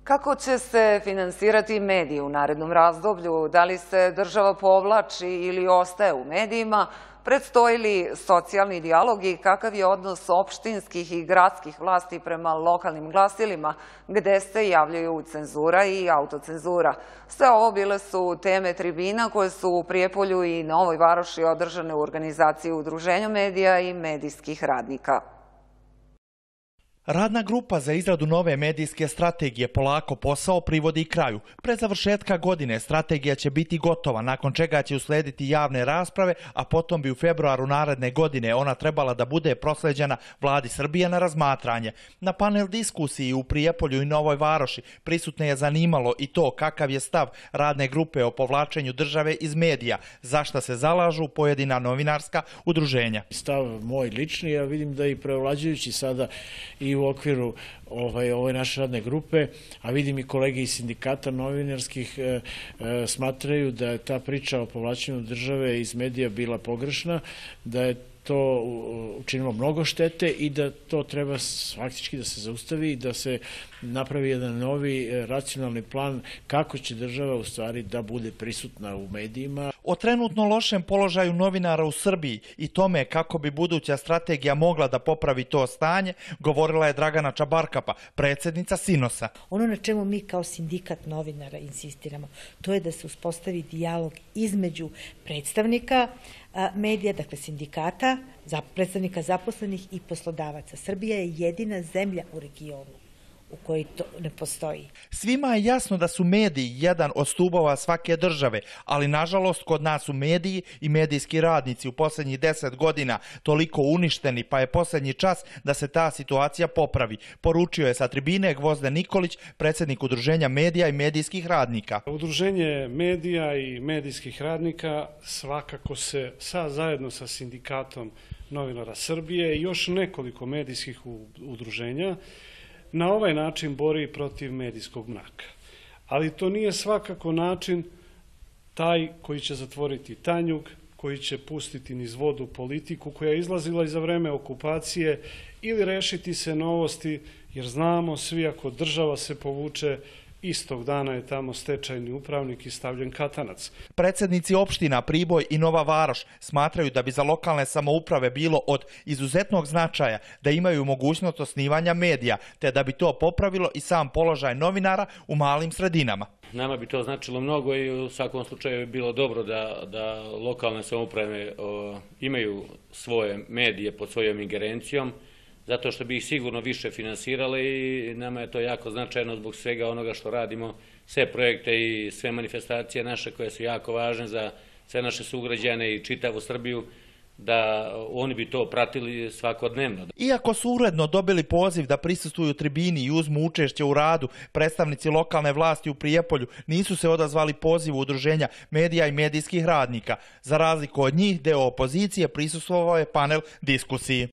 Kako će se finansirati mediji u narednom razdoblju? Da li se država povlači ili ostaje u medijima? Predstoji li socijalni dijalog i kakav je odnos opštinskih i gradskih vlasti prema lokalnim glasilima, gde se javljaju cenzura i autocenzura? Sve ovo bile su teme tribina koje su u Prijepolju i Novoj Varoši održane u organizaciji Udruženja medija i medijskih radnika. Radna grupa za izradu nove medijske strategije polako posao privodi kraju. Pre završetka godine strategija će biti gotova, nakon čega će uslediti javne rasprave, a potom bi u februaru naredne godine ona trebala da bude prosleđena Vladi Srbije na razmatranje. Na panel diskusiji u Prijepolju i Novoj Varoši prisutne je zanimalo i to kakav je stav radne grupe o povlačenju države iz medija, za šta se zalažu pojedina novinarska udruženja. Stav moj lični, ja vidim da i preovlađujući sada i u okviru ove naše radne grupe, a vidim i kolege iz sindikata novinarskih smatraju da je ta priča o povlačenju države iz medija bila pogrešna, da je to učinilo mnogo štete i da to treba faktički da se zaustavi i da se napravi jedan novi racionalni plan kako će država u stvari da bude prisutna u medijima. O trenutno lošem položaju novinara u Srbiji i tome kako bi buduća strategija mogla da popravi to stanje, govorila je Dragana Čabarkapa, predsjednica Sinosa. Ono na čemu mi kao sindikat novinara insistiramo, to je da se uspostavi dijalog između predstavnika medija, dakle sindikata, predstavnika zaposlenih i poslodavaca. Srbija je jedina zemlja u regionu u kojoj to ne postoji. Svima je jasno da su mediji jedan od stubova svake države, ali nažalost kod nas su mediji i medijski radnici u posljednjih 10 godina toliko uništeni, pa je posljednji čas da se ta situacija popravi, poručio je sa tribine Gvozden Nikolić, predsjednik Udruženja medija i medijskih radnika. Udruženje medija i medijskih radnika svakako se zajedno sa sindikatom novinara Srbije i još nekoliko medijskih udruženja na ovaj način bori protiv medijskog mraka. Ali to nije svakako način taj koji će zatvoriti Tanjug, koji će pustiti niz vodu politiku koja je izlazila i za vreme okupacije ili rešiti se novosti, jer znamo svi ako država se povuče, istog dana je tamo stečajni upravnik i stavljen katanac. Predsjednici opština Priboj i Nova Varoš smatraju da bi za lokalne samouprave bilo od izuzetnog značaja da imaju mogućnost osnivanja medija, te da bi to popravilo i sam položaj novinara u malim sredinama. Nama bi to značilo mnogo i u svakom slučaju je bilo dobro da lokalne samouprave imaju svoje medije pod svojom ingerencijom, zato što bi ih sigurno više finansirale i nama je to jako značajno zbog svega onoga što radimo, sve projekte i sve manifestacije naše koje su jako važne za sve naše sugrađane i čitavu Srbiju, da oni bi to pratili svakodnevno. Iako su uredno dobili poziv da prisustvuju tribini i uzmu učešće u radu, predstavnici lokalne vlasti u Prijepolju nisu se odazvali pozivu Udruženja medija i medijskih radnika. Za razliku od njih, deo opozicije prisustvovao je panel diskusiji.